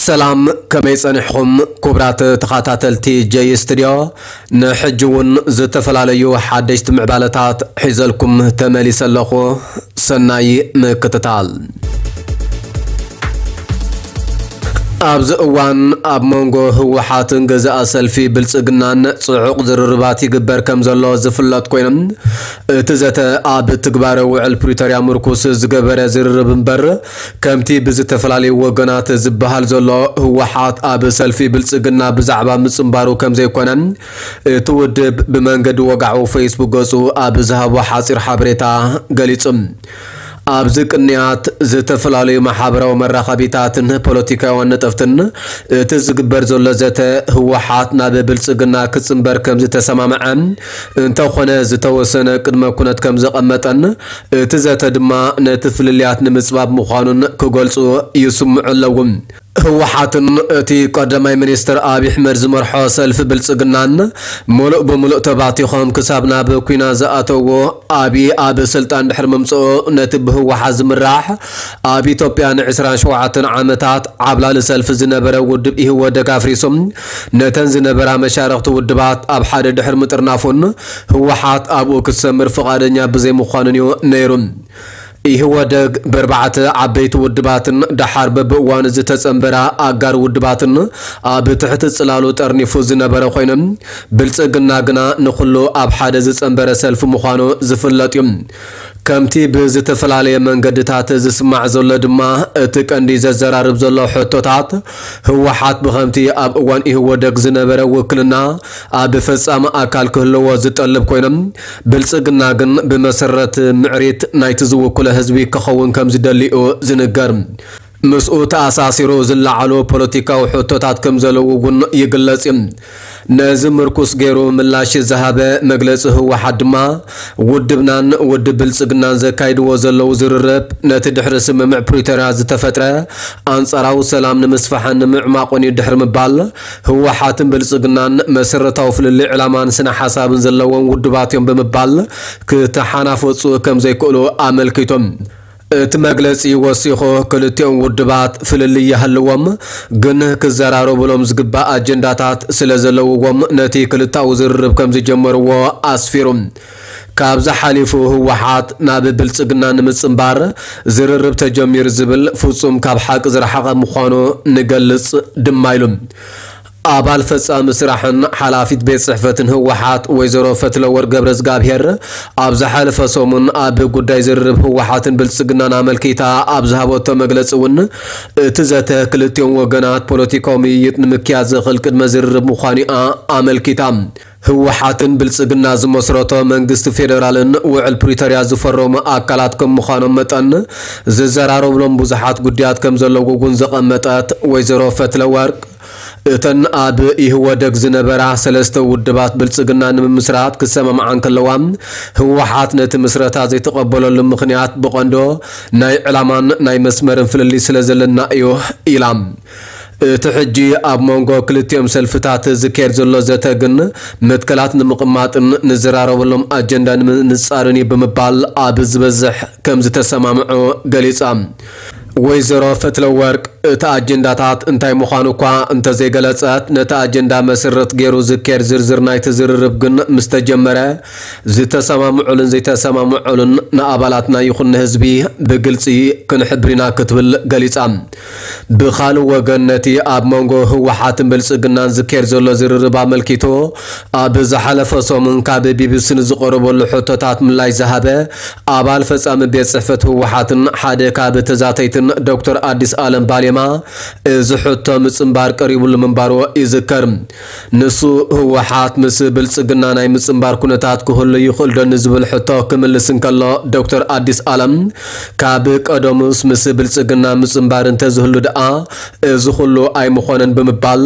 ሰላም፣ ከመይ ጸኒሕኹም ክቡራት ተኸታተልቲ ጀይ ስቱድዮ? ንሕጂ እውን ዝተፈላለዩ ሓደሽቲ ምዕባለታት ሒዘልኩም ተመሊሰ ኣለኹ። ሰናይ ምክትታል። ኣብዚ እዋን ኣብ መንጎ ህወሓትን ገዛኢ ሰልፊ ብልጽግናን ጽዑቕ ዝርርባት ይግበር ከም ዘሎ ዝፍለጥ ኮይኑ፣ እቲ ዘተ ኣብ ትግባረ ውዕል ፕሪቶርያ ምርኩስ ዝገበረ ዝርርብ እምበር፣ ከምቲ ብዝተፈላለዩ ወገናት ዝበሃል ዘሎ ህወሓት ኣብ ሰልፊ ብልጽግና ብዛዕባ ምጽንባሩ ከም ዘይኮነ እቲ ውድብ ብመንገዲ ወግዓዊ ፌስቡክ ገጹ ኣብ ዝሃቦ ሓጺር ሓበሬታ ገሊጹ። ኣብዚ ቅንያት ዝተፈላለዩ ማሕበራዊ መራኸቢታትን ፖለቲካውያን ነጠፍትን እቲ ዝግበር ዘሎ ዘተ ህወሓት ናብ ብልጽግና ክጽንበር ከም ዝተሰማምዐ እንተኾነ ዝተወሰነ ቅድመ ኩነት ከም ዘቐመጠን እቲ ዘተ ድማ ነቲ ፍልልያት ንምጽባብ ምዃኑን ክገልጹ ይስምዑ ኣለዉ። ህወሓትን እቲ ቀዳማይ ሚኒስትር ኣብይ ኣሕመድ ዝመርሖ ሰልፊ ብልጽግናን ምሉእ ብምሉእ ተባቲኾም ክሳብ ናብ ኲናት ዝኣተዎ ኣብይ ኣብ ስልጣን ድሕሪ ምምጽኡ ነቲ ብህወሓት ዝምራሕ ኣብ ኢትዮጵያ ንዕስራን ሸውዓተን ዓመታት ዓብላሊ ሰልፊ ዝነበረ ውድብ ኢህወደግ ኣፍሪሶም ነተን ዝነበራ መሻርኽቲ ውድባት ኣብ ሓደ ድሕሪ ምጥርናፉን ህወሓት ኣብኡ ክትሰምር ፍቓደኛ ብዘይምዃኑን እዩ ነይሩ። ኢህወደግ ብኣርባዕተ ዓበይቲ ውድባትን ደሓር በብእዋኑ ዝተጸንበራ ኣጋር ውድባትን ኣብ ትሕቲ ጽላሉ ጠርኒፉ ዝነበረ ኮይኑ፣ ብልጽግና ግና ንኹሉ ኣብ ሓደ ዝጸንበረ ሰልፊ ምዃኑ ዝፍለጥ እዩ። ከምቲ ብዝተፈላለየ መንገድታት ዝስማዕ ዘሎ ድማ፣ እቲ ቀንዲ ዘዘራርብ ዘሎ ሕቶታት፣ ህወሓት ብኸምቲ ኣብ እዋን ኢህወደግ ዝነበረ ውክልና ኣብ ፈጻሚ ኣካል ክህልዎ ዝጠልብ ኮይኖም፣ ብልጽግና ግን ብመሰረት ምዕሪት ናይቲ ዝውክሎ ህዝቢ ክኸውን ከም ዝደሊኡ ዝንገር። ምስኡ ተኣሳሲሩ ዝለዓሉ ፖለቲካዊ ሕቶታት ከም ዘለዉ እውን ይግለጽ እዩ። ነዚ ምርኩስ ገይሩ ምላሽ ዝሃበ መግለጺ ህወሓት ድማ፣ ውድብናን ውድብ ብልጽግናን ዘካይድዎ ዘለዉ ዝርርብ ነቲ ድሕሪ ስምምዕ ፕሪቶርያ ዝተፈጥረ ኣንጻራዊ ሰላም ንምስፋሕን ንምዕማቑን እዩ ድሕሪ ምባል፣ ህወሓትን ብልጽግናን መሰረታዊ ፍልልይ ዕላማን ስነ ሓሳብን ዘለዎም ውድባት እዮም ብምባል ክተሓናፈጹ ከም ዘይክእሉ ኣመልኪቶም። እቲ መግለጺ ወሲኹ፣ ክልቲኦም ውድባት ፍልልይ ይሃልዎም፣ ግን ክዘራረቡሎም ዝግባእ ኣጀንዳታት ስለ ዘለውዎም ነቲ ክልታዊ ዝርርብ ከም ዝጀመርዎ ኣስፊሩ። ካብዚ ሓሊፉ ህወሓት ናብ ብልጽግና ንምጽንባር ዝርርብ ተጀሚሩ ዝብል ፍጹም ካብ ሓቂ ዝረሓቐ ምዃኑ ንገልጽ ድማ ኢሉ። ኣባል ፈጻሚ ስራሕን ሓላፊት ቤት ጽሕፈትን ህወሓት ወይዘሮ ፈትለወርቅ ገብረዝጋብሄር ኣብ ዝሓለፈ ሰሙን ኣብ ጉዳይ ዝርርብ ህወሓትን ብልጽግናን ኣመልኪታ ኣብ ዝሃበቶ መግለጺ እውን እቲ ዘተ ክልቲኦም ወገናት ፖለቲካዊ ምይይጥ ንምክያድ ዘኽእል ቅድመ ዝርርብ ምዃኑ እያ ኣመልኪታ። ህወሓትን ብልጽግና ዝመስረቶ መንግስቲ ፌደራልን ውዕል ፕሪቶርያ ዝፈረሙ ኣካላት ከም ምዃኖም መጠን ዝዘራረብሎም ብዙሓት ጉዳያት ከም ዘለዉ እውን ዘቐመጠት ወይዘሮ ፈትለወርቅ፣ እተን ኣብ ኢህወደግ ዝነበራ ሰለስተ ውድባት ብልጽግና ንምምስራት ክሰማምዓ እንከለዋ፣ ህወሓት ነቲ ምስረታ ዘይተቐበለሉ ምኽንያት ብቐንዶ ናይ ዕላማን ናይ መስመርን ፍልልይ ስለ ዘለና እዩ ኢላ። እቲ ሕጂ ኣብ መንጎ ክልቲኦም ሰልፍታት ዝካየድ ዘሎ ዘተ ግን መትከላት ንምቕማጥን ንዘራረበሎም ኣጀንዳ ንምንጻርን እዩ ብምባል ኣብ ዝበዝሕ ከም ዝተሰማምዑ ገሊጻ። ወይዘሮ ፈትለወርቅ እቲ ኣጀንዳታት እንታይ ምዃኑ እኳ እንተዘይገለጸት፣ ነቲ ኣጀንዳ መሰረት ገይሩ ዝካየድ ዝርዝር ናይቲ ዝርርብ ግን ምስ ተጀመረ ዝተሰማምዑሉን ዘይተሰማምዑሉን ንኣባላትና ይኹን ንህዝቢ ብግልጺ ክንሕብር ኢና ክትብል ገሊጻ። ብኻልእ ወገን ነቲ ኣብ መንጎ ህወሓትን ብልጽግናን ዝካየድ ዘሎ ዝርርብ ኣመልኪቱ ኣብ ዝሓለፈ ሰሙን ካብ ቢቢሲ ንዝቐረበሉ ሕቶታት ምላሽ ዝሃበ ኣባል ፈጻሚ ቤት ጽሕፈት ህወሓትን ሓደ ካብ ተዛተይትን ዶክተር ኣዲስ ኣለም ባሌማ እዚ ሕቶ ምጽንባር ቀሪቡሉ ምንባሩ ይዝከር። ንሱ ህወሓት ምስ ብልጽግና ናይ ምጽንባር ኩነታት ክህሉ ይኽእል ዶ ንዝብል ሕቶ ክምልስ እንከሎ ዶክተር ኣዲስ ኣለም ካብ ቀደሙስ ምስ ብልጽግና ምጽንባር እንተዝህሉ ደኣ እዚ ኩሉ ኣይምኾነን ብምባል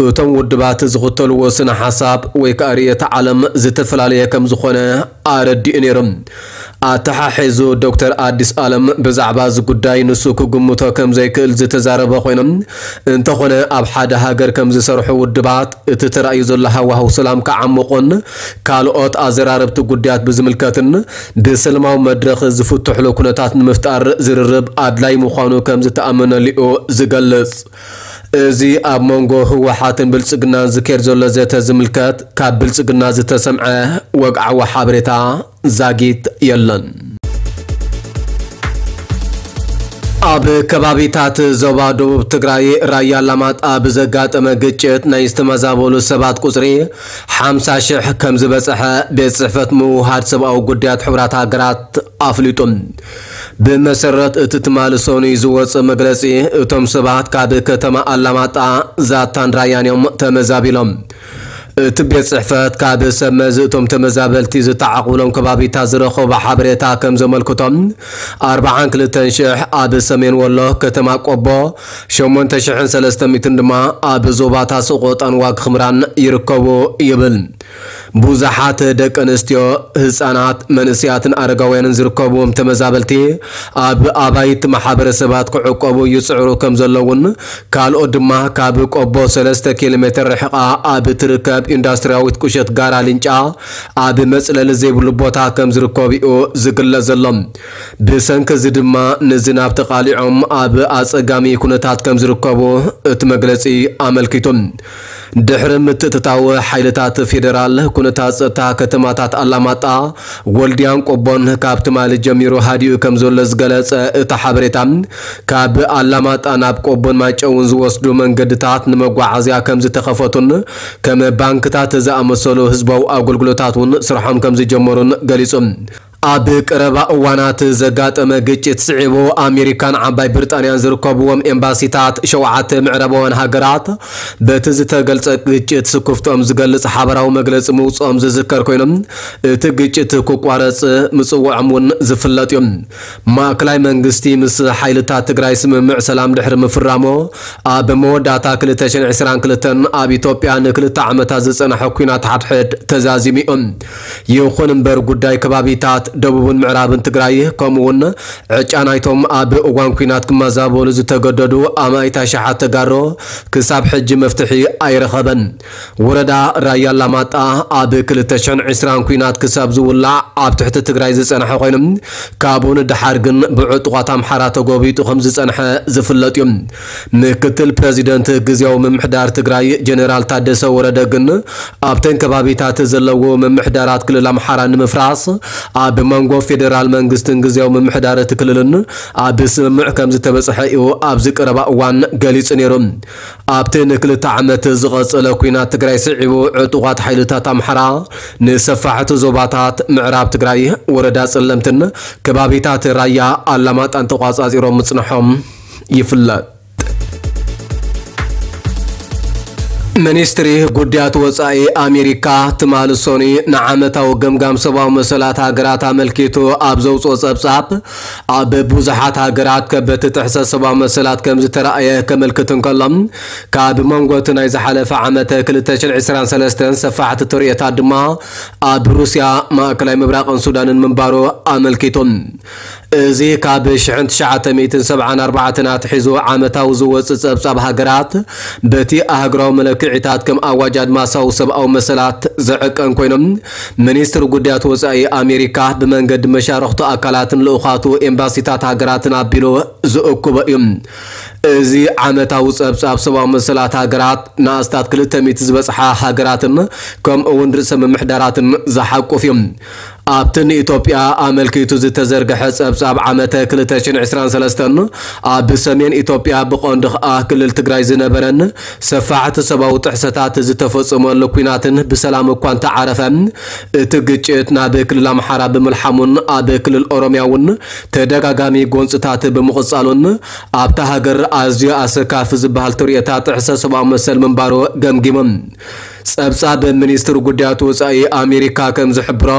እቶም ውድባት ዝኽተልዎ ስነ ሓሳብ ወይ ከዓ ርእየተ ዓለም ዝተፈላለየ ከም ዝኾነ ኣረዲኡ ነይሩ። ኣተሓሒዙ ዶክተር ኣዲስ ኣለም ብዛዕባ እዚ ጉዳይ ንሱ ክግምቶ ከም ዘይክእል ዝተዛረበ ኮይኖም እንተኾነ ኣብ ሓደ ሃገር ከም ዝሰርሑ ውድባት እቲ ተራእዩ ዘሎ ሃዋህው ሰላም ክዓምቑን ካልኦት ኣዘራረብቲ ጉዳያት ብዝምልከትን ብሰላማዊ መድረኽ ዝፍትሕሉ ኩነታት ንምፍጣር ዝርርብ ኣድላይ ምዃኑ ከም ዝተኣመነሉ እዩ ዝገልጽ። እዚ ኣብ መንጎ ህወሓትን ብልጽግናን ዝካየድ ዘሎ ዘተ ዝምልከት ካብ ብልጽግና ዝተሰምዐ ወግዓዊ ሓበሬታ ዛጊት የለን። ኣብ ከባቢታት ዞባ ደቡብ ትግራይ ራያ ኣላማጣ ብዘጋጠመ ግጭት ናይ ዝተመዛበሉ ሰባት ቁጽሪ ሓምሳ ሽሕ ከም ዝበጽሐ ቤት ጽሕፈት ምውሃድ ሰብኣዊ ጉዳያት ሕቡራት ሃገራት ኣፍሊጡ። ብመሰረት እቲ ትማሊ ሰኑይ ዝወጸ መግለጺ፣ እቶም ሰባት ካብ ከተማ ኣላማጣ፣ ዛታን ራያን እዮም ተመዛቢሎም። እቲ ቤት ጽሕፈት ካብ ሰብ መዚ እቶም ተመዛበልቲ ዝተዓቑሎም ከባቢታት ዝረኸቦ ሓበሬታ ከም ዘመልክቶም፣ ኣርብዓን ክልተን ሽሕ ኣብ ሰሜን ወሎ ከተማ ቆቦ፣ ሸሞንተ ሽሕን ሰለስተ ሚእትን ድማ ኣብ ዞባታት ሰቆጣን ዋግ ኽምራን ይርከቡ ይብል። ብዙሓት ደቂ ኣንስትዮ፣ ህጻናት፣ መንእሰያትን ኣረጋውያንን ዝርከብዎም ተመዛበልቲ ኣብ ኣባይቲ ማሕበረሰባት ክዕቆቡ ይጽዕሩ ከም ዘለውን፣ ካልኦት ድማ ካብ ቆቦ ሰለስተ ኪሎ ሜትር ርሕቓ ኣብ ትርከብ ኢንዱስትሪያዊት ቁሸት ጋራ ሊንጫ ኣብ መጽለሊ ዘይብሉ ቦታ ከም ዝርከቡ እዩ ዝግለጽ ዘሎ። ብሰንኪ እዚ ድማ ንዝናብ ተቓሊዖም ኣብ ኣጸጋሚ ኩነታት ከም ዝርከቡ እቲ መግለጺ ኣመልኪቱ። ድሕሪ ምትእትታው ሓይልታት ፌደራል፣ ኩነታት ጸጥታ ከተማታት ኣላማጣ፣ ወልድያን ቆቦን ካብ ትማሊ ጀሚሩ ሃዲኡ ከም ዘሎ ዝገለጸ እቲ ሓበሬታ፣ ካብ ኣላማጣ ናብ ቆቦን ማይጨውን ዝወስዱ መንገድታት ንመጓዓዝያ ከም ዝተኸፈቱን ከም ባንክታት ዝኣመሰሉ ህዝባዊ ኣገልግሎታት እውን ስርሖም ከም ዝጀመሩን ገሊጹ። ኣብ ቀረባ እዋናት ዘጋጠመ ግጭት ስዒቡ፣ ኣሜሪካን ዓባይ ብሪጣንያን ዝርከብዎም ኤምባሲታት ሸውዓተ ምዕራባውያን ሃገራት በቲ ዝተገልጸ ግጭት ስክፍትኦም ዝገልጽ ሓበራዊ መግለጺ ምውጽኦም ዝዝከር ኮይኖም፣ እቲ ግጭት ክቋረጽ ምጽውዖም እውን ዝፍለጥ እዩ። ማእከላይ መንግስቲ ምስ ሓይልታት ትግራይ ስምምዕ ሰላም ድሕሪ ምፍራሙ፣ ኣብ መወዳእታ ክልተ ሽሕን ዕስራን ክልተን ኣብ ኢትዮጵያ ንክልተ ዓመታት ዝጸንሐ ኲናት ሓድሕድ ተዛዚሙ እዩ። ይኹን እምበር፣ ጉዳይ ከባቢታት ደቡብን ምዕራብን ትግራይ፣ ከምኡውን ዕጫ ናይቶም ኣብ እዋን ኲናት ክመዛበሉ ዝተገደዱ ኣማኢት ኣሽሓት ተጋሩ ክሳብ ሕጂ መፍትሒ ኣይረኸበን። ወረዳ ራያ ኣላማጣ ኣብ ክልተ ሽሕን ዕስራን ኲናት ክሳብ ዝውላዕ ኣብ ትሕቲ ትግራይ ዝጸንሐ ኮይኑ፣ ካብኡ ንደሓር ግን ብዕጡቓት ኣምሓራ ተጎቢጡ ከም ዝጸንሐ ዝፍለጥ እዩ። ምክትል ፕረዚደንት ግዝያዊ ምምሕዳር ትግራይ ጀነራል ታደሰ ወረደ ግን፣ ኣብተን ከባቢታት ዘለዎ ምምሕዳራት ክልል ኣምሓራ ንምፍራስ ኣብ መንጎ ፌደራል መንግስትን ግዝያዊ ምምሕዳር እቲ ክልልን ኣብ ስምምዕ ከም ዝተበጽሐ እዩ ኣብዚ ቀረባ እዋን ገሊጹ ነይሩ። ኣብቲ ንክልተ ዓመት ዝቐጸለ ኲናት ትግራይ ስዒቡ፣ ዕጡቓት ሓይልታት ኣምሓራ ንሰፋሕቲ ዞባታት ምዕራብ ትግራይ፣ ወረዳ ጸለምትን ከባቢታት ራያ ኣላማጣን ተቋጻጺሮም ምጽንሖም ይፍለጥ። ሚኒስትሪ ጉዳያት ወጻኢ ኣሜሪካ ትማሊ ሰኑይ ንዓመታዊ ገምጋም ሰብኣዊ መሰላት ሃገራት ኣመልኪቱ ኣብ ዘውፅኦ ጸብጻብ፣ ኣብ ብዙሓት ሃገራት ከበድቲ ጥሕሰት ሰብኣዊ መሰላት ከም ዝተራእየ ከመልክት እንከሎ፣ ካብ መንጎ እቲ ናይ ዝሓለፈ ዓመት ክልተ ሽሕን ዕስራን ሰለስተን ሰፋሕቲ ተርእዮታት ድማ ኣብ ሩስያ፣ ማእከላይ ምብራቕን ሱዳንን ምንባሩ ኣመልኪቱ። እዚ ካብ ሽሕን ትሽዓተ ሚእትን ሰብዓን ኣርባዕተን ኣትሒዙ ዓመታዊ ዝወጽእ ጸብጻብ ሃገራት በቲ ኣህጉራዊ መለክዒታት ከም ኣዋጅ ኣድማሳዊ ሰብኣዊ መሰላት ዝዕቀን ኮይኖም፣ ሚኒስትሪ ጉዳያት ወጻኢ ኣሜሪካ ብመንገዲ መሻርኽቱ ኣካላትን ልኡኻቱ ኤምባሲታት ሃገራትን ኣቢሉ ዝእክቦ እዩ። እዚ ዓመታዊ ጸብጻብ ሰብኣዊ መሰላት ሃገራት ንኣስታት ክልተ ሚእቲ ዝበጽሓ ሃገራትን ከምኡ እውን ርእሰ ምምሕዳራትን ዝሓቁፍ እዩ። ኣብቲ ንኢትዮጵያ ኣመልኪቱ ዝተዘርግሐ ጸብጻብ ዓመተ ክልተ ሽሕን ዕስራን ሰለስተን፣ ኣብ ሰሜን ኢትዮጵያ ብቐንዱ ኸኣ ክልል ትግራይ ዝነበረን ሰፋሕቲ ሰብኣዊ ጥሕሰታት ዝተፈጸመሉ ኲናትን ብሰላም እኳ እንተዓረፈ፣ እቲ ግጭት ናብ ክልል ኣምሓራ ብምልሓሙን ኣብ ክልል ኦሮምያ እውን ተደጋጋሚ ጎንጽታት ብምቕጻሉን ኣብታ ሃገር ኣዝዩ ኣሰካፊ ዝበሃል ትርእዮታት ጥሕሰት ሰብኣዊ መሰል ምንባሩ ገምጊሞም። ጸብጻብ ሚኒስትሪ ጉዳያት ወጻኢ ኣሜሪካ ከም ዝሕብሮ፣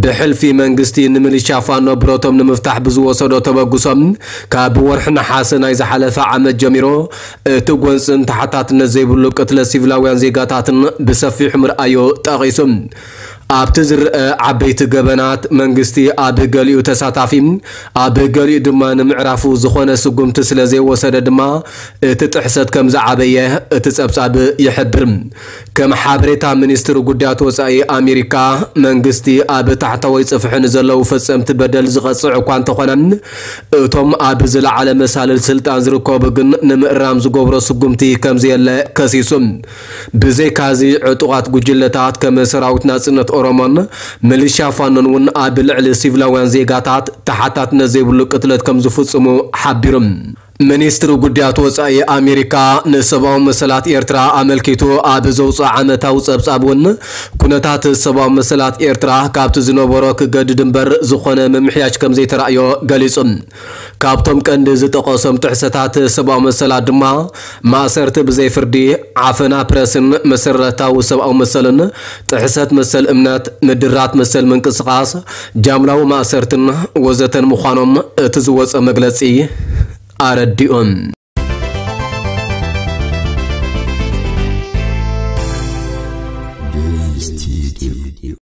ብሕልፊ መንግስቲ ንሚሊሻ ፋኖ ብረቶም ንምፍታሕ ብዝወሰዶ ተበግሶ፣ ካብ ወርሒ ነሓሰ ናይ ዝሓለፈ ዓመት ጀሚሩ፣ እቲ ጎንጽን ተሓታትነት ዘይብሉ ቅትለት ሲቪላውያን ዜጋታትን ብሰፊሑ ምርኣዩ ጠቒሱ። ኣብቲ ዝረአ ዓበይቲ ገበናት፣ መንግስቲ ኣብ ገሊኡ ተሳታፊ፣ ኣብ ገሊኡ ድማ ንምዕራፉ ዝኾነ ስጉምቲ ስለ ዘይወሰደ ድማ፣ እቲ ጥሕሰት ከም ዝዓበየ እቲ ጸብጻብ ይሕብር። ከም ሓበሬታ ሚኒስትሪ ጉዳያት ወጻኢ ኣሜሪካ፣ መንግስቲ ኣብ ታሕታዋይ ጽፍሒ ንዘለዉ ፈጸምቲ በደል ዝቐጽዕ እኳ እንተኾነ፣ እቶም ኣብ ዝለዓለ መሳልል ስልጣን ዝርከቡ ግን ንምእራም ዝገብሮ ስጉምቲ ከምዘየለ ከሲሱ። ብዘይካዚ ዕጡቓት ጉጅለታት ከም ሰራዊት ናጽነት ኦሮሞን ሚሊሻ ፋኖን እውን ኣብ ልዕሊ ሲቪላውያን ዜጋታት ተሓታትነት ዘይብሉ ቅትለት ከም ዝፍጽሙ ሓቢሩ። ሚኒስትሪ ጉዳያት ወጻኢ ኣሜሪካ ንሰብኣዊ መሰላት ኤርትራ ኣመልኪቱ ኣብ ዘውፅኦ ዓመታዊ ጸብጻብ እውን፣ ኩነታት ሰብኣዊ መሰላት ኤርትራ ካብቲ ዝነበሮ ክገድድ እምበር ዝኾነ ምምሕያሽ ከም ዘይተራእዮ ገሊጹ። ካብቶም ቀንዲ ዝጠቐሶም ጥሕሰታት ሰብኣዊ መሰላት ድማ፣ ማእሰርቲ ብዘይ ፍርዲ፣ ዓፈና ፕረስን መሰረታዊ ሰብኣዊ መሰልን፣ ጥሕሰት መሰል እምነት፣ ምድራት መሰል ምንቅስቓስ፣ ጃምላዊ ማእሰርትን ወዘተን ምዃኖም እቲ ዝወጸ መግለጺ ኣረዲኡ።